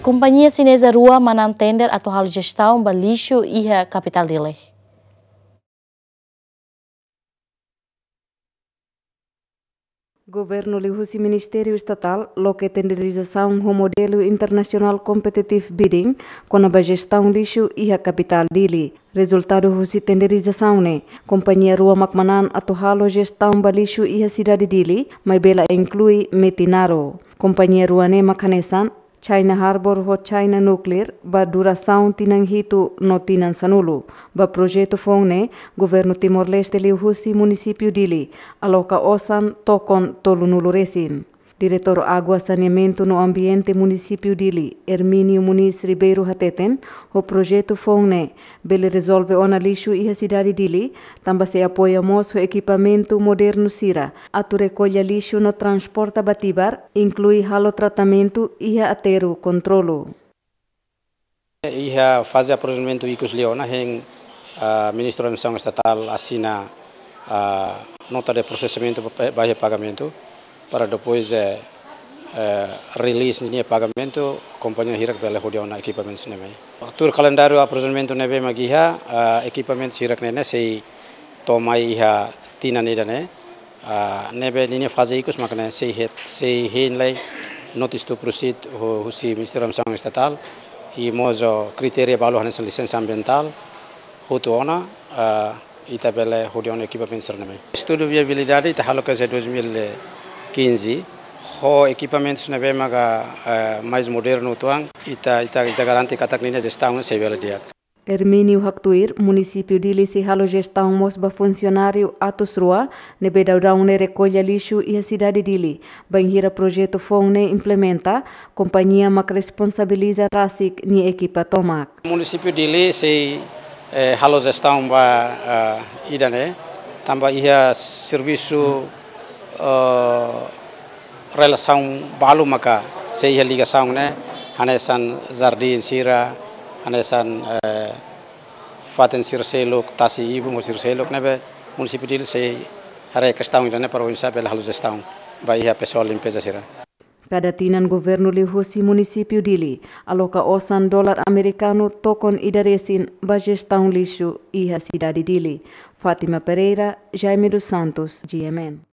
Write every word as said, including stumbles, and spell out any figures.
Kompañia xineza rua manán tender atu halo jestaun ba lixu iha kapitál Dili. Governu liuhusi Ministériu Estatál loke tenderizasaun ho modelu internasionál competitive bidding kona-ba jestaun lixu iha kapitál Dili. Rezultadu husi tenderizasaun ne'e, kompañia rua mak manán atu halo jestaun ba lixu iha sidade Dili, maibé la inklui Metinaro. Kompañia rua ne'e mak hanesan China Harbour ho China Nuclear ba durasaun tinan hitu no tinan sanulu. Ba projetu foun ne'e, Governu Timor-Leste liuhusi Munisípiu Dili aloka osan tokon tolunulu resin. Diretór Água, Saneamentu no Ambiente Munisípiu Dili, Hermínio Muniz Ribeiro hateten, ho projetu foun ne'e bele rezolve ona lixu iha sidade Dili, tanba sei apoia mós ho ekipamentu modernu sira atu rekolla lixu no transporta ba Tibar, inklui halo tratamentu iha aterru kontrolu. Iha faze aprozentamentu ikus liu ona hein, ah, Ministru Administrasaun Estatál asina, ah, nota de prosesamentu ba, ba iha pagamentu, para depois, eh, eh, release ninia pagamentu, kompañia hirak bele hodi ona ekipamentu ne'e mai. Tuir kalendáriu aprozentamentu ne'ebé mak iha, ah, ekipamentu hirak ne'e ne'e sei to'o mai iha tinan ida-ne'e. Ah, ne'ebé ninia faze ikus mak ne'e sei het, sei hein lai notice to proceed hu-, husi Ministériu Administrasaun Estatál, i mós kritéria balu hanesan lisensa ambientál, hotu ona, ah, ita bele hodi ona ekipamentu sira-ne'e mai. Estudu viabilidade ita halo kedas dois mil e quinze, ho ekipamentu ne'ebé maka, eh, mais modernu uitoan, ita, ita, ita garante katak ninia jestaun sei bele di'ak. Hermínio haktuir, Munisípiu Dili sei halo jestaun mós ba funsionáriu atus rua ne'ebé daudaun ne'e rekolla lixu iha sidade Dili. Bainhira projetu foun ne'e implementa, kompañia mak responsabiliza rasik nia ekipa tomak. Munisípiu Dili sei, eh, halo jestaun ba, eh, ida-ne'e, tanba iha servisu, eh, relasaun balu maka sei iha ligasaun ne'e, hanesan jardín sira, hanesan, eh, fatin sira seluk, tasi ibun ho sira seluk ne'ebé Munisípiu Dili sei haree kestaun ida-ne'e para oinsá bele halo jestaun ba iha pesoál limpeza sira. Kada tinan Governu liuhusi Munisípiu Dili aloka osan dolar amerikanu tokon ida resin ba jestaun lixu iha sidade Dili. Fátima Pereira, Jaime dos Santos, G M N.